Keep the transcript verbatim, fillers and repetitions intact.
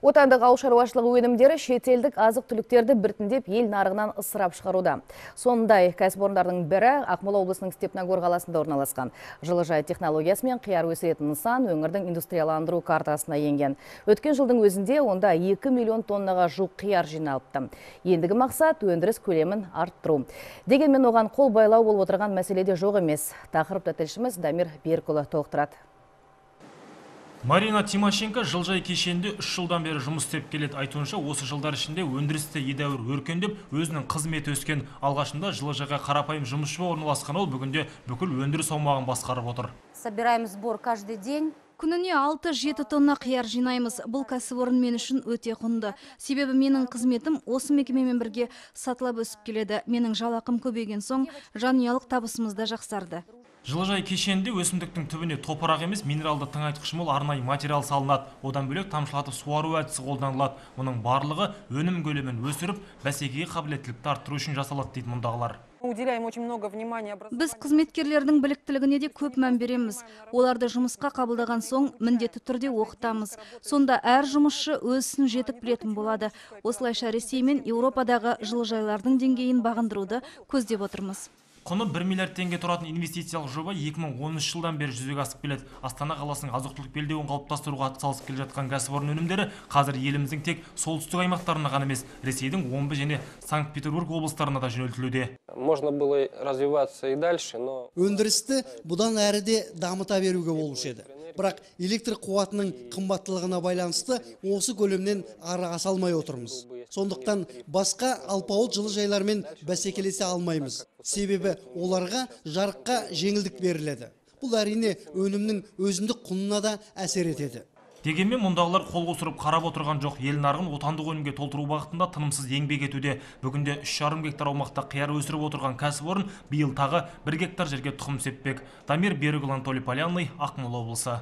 Отандық ауыл шаруашылығы өнімдері шетелдік азық-түліктерді біртіндеп ел нарығынан ысырап шығаруда. Сондай кәсіпорындардың бірі Ақмола облысының Степногор қаласында орналасқан. Жылыжай технологиясымен қияр өсіретін нысан өңірдің индустрияландыру картасына енген. Өткен жылдың өзінде онда екі миллион тоннаға жуық қияр жиналыпты. Ендігі мақсат өндіріс көлемін арттыру. Дегенмен оған қол байлау болып отырған мәселеде жоқ емес. Тақырыпты тілшіміз Дамир Берікұлы толықтырады. Марина Тимошенко жылжай кешенде үш жылдан бері жұмыс істеп келеді. Айтуынша, осы жылдар ішінде өндірісте едәуір өркендеп, өзінің қызметі өскен. Алғашында жылыжайға қарапайым жұмысшы орналасқан ол бүгінде бүкіл өндіріс аумағын басқарып отыр. Собираем сбор каждый день. Күніне алты-жеті тонна қияр жинаймыз. Бұл кәсіпорын мен үшін өте құнды. Себебі менің қызметім осы мекемемен бірге сатылап өсіп келеді. Менің жалақым көбейген соң жанұялық табысымыз да жақсарды. Жылыжай кешенде өсімдіктің түбіне топырақ емес, минералды тыңайтқыш мол арнайы материал салынады. Одан бөлек тамшылатып суару әдісі қолданылады. Мұның барлығы өнім көлемін өсіріп, бәсекеге қабілеттілікті арттыру үшін жасалады дейді мұндағылар. Біз қызметкерлердің біліктілігіне де көп мән береміз. Оларды жұмысқа қабылдаған соң міндетті түрде оқытамыз. Сонда әр жұмысшы өз ісін жетік білетін болады. Осылайша Ресей мен Еуропадағы жылыжайлардың деңгейін бағындыруды көздеп отырмыз. Құны бір миллиард теңге тұратын инвестициялық жоба екі мың оныншы жылдан бері жүзеге асып келеді. Астана қаласының азық-түлік белдеуін қалыптастыруға атсалысып келе жатқан кәсіпорын өнімдері қазір еліміздің тек солтүстік аймақтарына ғана емес, Ресейдің Омбы және Санкт-Петербург облыстарына да жөнелтілуде. Можно было развиваться и дальше, но өндірісті бұдан әрі де дамыта беруге болушы еді. Бірақ электр қуатының қымбаттылығына байланысты осы көлемнен ары аса алмай отырмыз. Сондықтан басқа алпауыт жылыжайлармен бәсекелесе алмаймыз. Себебі оларға жарыққа жеңілдік беріледі. Бұл әрине өнімнің өзіндік құнына да әсер етеді. Дегенмен мұндағылар қол қусырып қарап отырған жоқ. Ел нарығын отандық өнімге толтыру бағытында тынымсыз еңбек етуде. Бүгінде үш жарым гектар аумақта қияр өсіріп отырған кәсіпорын биыл тағы бір гектар жерге тұқым сеппек. Дамир Берікұлы, Анатолий Полянный, Ақмола облысы.